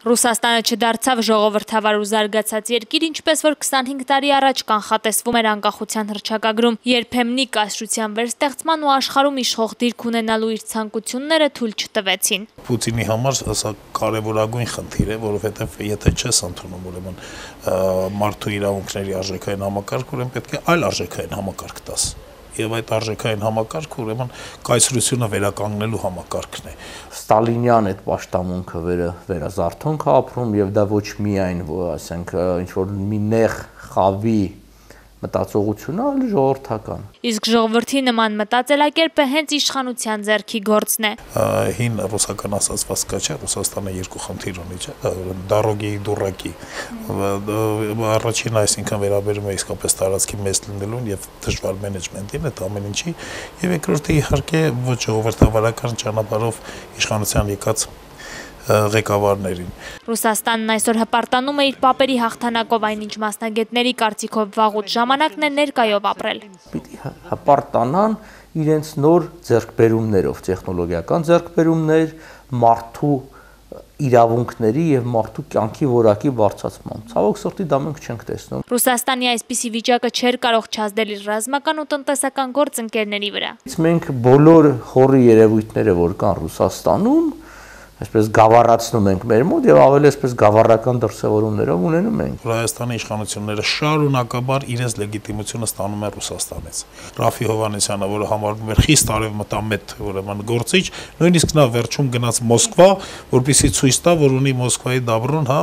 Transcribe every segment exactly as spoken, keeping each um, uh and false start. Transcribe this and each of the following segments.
Ռուսաստանը չդարձավ ժողովրդավար ու զարգացած երկիր, ինչպես որ քսանհինգ տարի առաջ կանխատեսվում էր անկախության հռչակագրում, երբեմնի կայսրության վերստեղծման ու աշխարհում իշխող դիրք ունենալու իր ցանկությունները թույլ չտվեցին։ Պուտինի համար սա կարևորագույն խնդիր է, որովհետև եթե չես ընդունում ուրեմն մարդու իրավունքների արժեքային համակարգ, ուրեմն պետք է այլ արժեքային համակարգ տաս։ Եվ այդ արժեքային համակարգը ուրեմն կայսրությունը վերականգնելու համակարգն է։ Ստալինյան այդ պաշտամունքը վերը վերազարթոնք է ապրում եւ դա ոչ միայն, ասենք, ինչ որ մի նեղ խավի մտածողությունը, այլ ժողովրդական։ Իսկ ժողովրդի նման մտածելակերպը հենց իշխանության ձեռքի գործն է։ Հին ռուսական ասացված կա չէ, Ռուսաստանը երկու խնդիր ունի, չէ, դարոգի, դուրակի։ Առաջինը այսինքն վերաբերում է իսկապես տարածքի մեծ լինելուն եւ դժվար մենեջմենտին, այդ ամեն ինչի, եւ երկրորդը իհարկե ոչ ժողովրդավարական ճանապարհով իշխանության եկած ղեկավարներին։ Ռուսաստանն այսօր հպարտանում է իր պապերի հաղթանակով, այնինչ մասնագետների կարծիքով վաղուց ժամանակն է ներկայով ապրել։ Պիտի հպարտանան իրենց նոր ձեռքբերումներով, տեխնոլոգիական ձեռքբերումներ, մարդու իրավունքների եւ մարդու կյանքի որակի բարձրացման։ Ցավոք սրտի դա մենք չենք տեսնում։ Ռուսաստանի այսպիսի վիճակը չէր կարող չազդել իր ռազմական ու տնտեսական գործընկերների վրա։ Մենք բոլոր խորի երևույթները, որ կան Ռուսաստանում, այսպես գավառացնում ենք մեր մոտ եւ ավելի այսպես գավառական դրսեւորումներով ունենում ենք։ Հայաստանի իշխանությունները շարունակաբար իրենց լեգիտիմությունը ստանում են Ռուսաստանից։ Ռաֆի Հովհաննիսյանը, որը համարվում էր խիստ արևմտամետ, ուրեմն գործիչ, նույնիսկ նա վերջում գնաց Մոսկվա, որպեսզի ցույց տա, որ ունի Մոսկվայի դաբրոն, հա,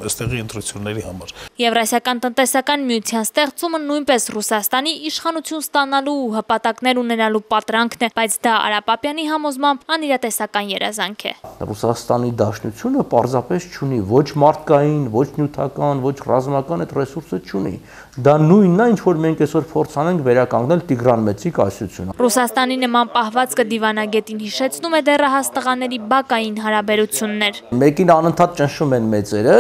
այստեղի ընտրությունների համար։ Եվրասիական տնտեսական միության ստեղծումը նույնպես Ռուսաստանի իշխանություն ստանալու ու հպատակներ ունենալու պատրանքն է, բայց դա Արա Պապյանի համոզմամբ անիրատեսական երազանք է։ Ռուսաստանի Դաշնությունը պարզապես չունի ոչ մարդկային, ոչ նյութական, ոչ ռազմական այդ ռեսուրսը չունի։ Դա նույնն է, ինչ որ մենք այսօր փորձանենք վերականգնել Տիգրան Մեծի կայսրությունը։ Ռուսաստանի նման պահվածքը դիվանագետին հիշեցնում է դեռահաս տղաների բակային հարաբերություններ։ Մեկին անընդհատ ճնշում են մեծերը,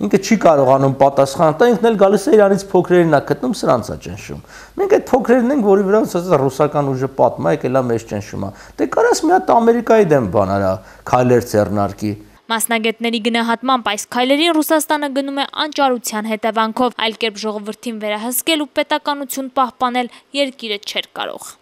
ինքը չի կարողանում պատասխանել, դա ինքն էլ գալիս է իրանից փոքրերին է գտնում, սրանց է ճնշում։ Մենք այդ փոքրերին ենք, որի վրա ասած ռուսական ուժը պատմա, եկել է մեզ ճնշում է։ Դե կարաս մի հատ Ամերիկայի դեմ բան արա, քայլեր ձեռնարկի։ Մասնագետների գնահատմամբ այս քայլերին Ռուսաստանը գնում է անճարության հետևանքով, այլ կերպ ժողովրդին վերահսկել ու պետականություն պահպանել երկիրը չէր կարող։